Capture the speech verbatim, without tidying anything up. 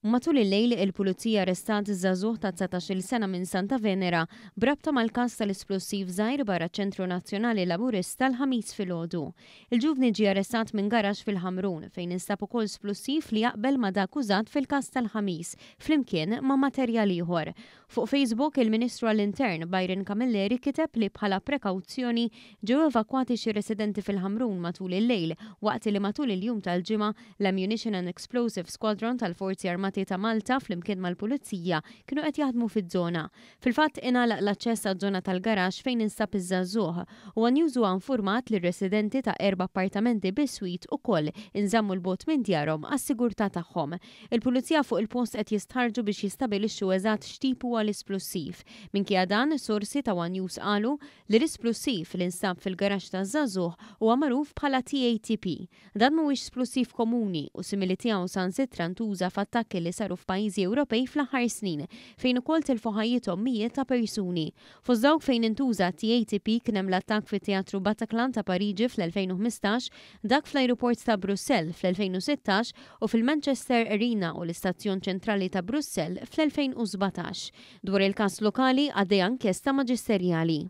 Matul il-lejl, il-Pulizija arrestat żagħżugħ ta' dsatax-il sena minn Santa Venera b'rabta mal-każ tal-isplussiv żgħir barra ċ-Ċentru Nazzjonali Laburista l-Ħamis filgħodu. Il-ġuvni ġie arrestat minn garaxx fil-Ħamrun fejn instab ukoll splussiv li jaqbel ma' dak użat fil-każ tal-Ħamis flimkien ma' materjal ieħor. Fuq Facebook, il-Ministru għall-Intern Byron Camilleri kiteb li bħala prekawzjoni ġew evakwati xi residenti fil-Ħamrun matul il-lejl, waqt li matul il-jum tal-Ġimgħa l-Ammunition and Explosive Squadron tal-Forzi Armati ta' Malta flimkien mal-Pulizija kienu qed jaħdmu fiż-żona. Fil-fatt, ingħalaq l-aċċess għaż-żona tal-garaxx fejn instab iż-żagħżugħ u One News huwa informat li r-residenti ta' erba' appartamenti biswit ukoll inżammu 'l bogħod minn djarhom għas-sigurtà tagħhom. Il-Pulizija fuq il-post qed jistħarrġu biex jistabilixxu eżatt x'tip huwa l-isplussiv. Minkejja dan, sorsi ta' One News qalu li l-isplussiv li nstab fil-garaxx taż-żagħżugħ huwa magħruf bħala T A T P. Dan mhuwiex splussiv komuni u simili tiegħu saħansitra ntuża f'attakki li saru f'pajjiżi Ewropej fl-aħħar snin, fejn ukoll tilfu ħajjithom mijiet ta' persuni. Fost dawk fejn intuża T A T P kien hemm l-attakk fit-Teatru Bataclan ta' Pariġi fl-elfejn u ħmistax, dak fl-ajruport ta' Brussell fl-elfejn u sittax u fil-Manchester Arena u l-Istazzjon Ċentrali ta' Brussell fl-elfejn u sbatax. Dwar il-każ lokali għaddejja inkjesta maġisterjali.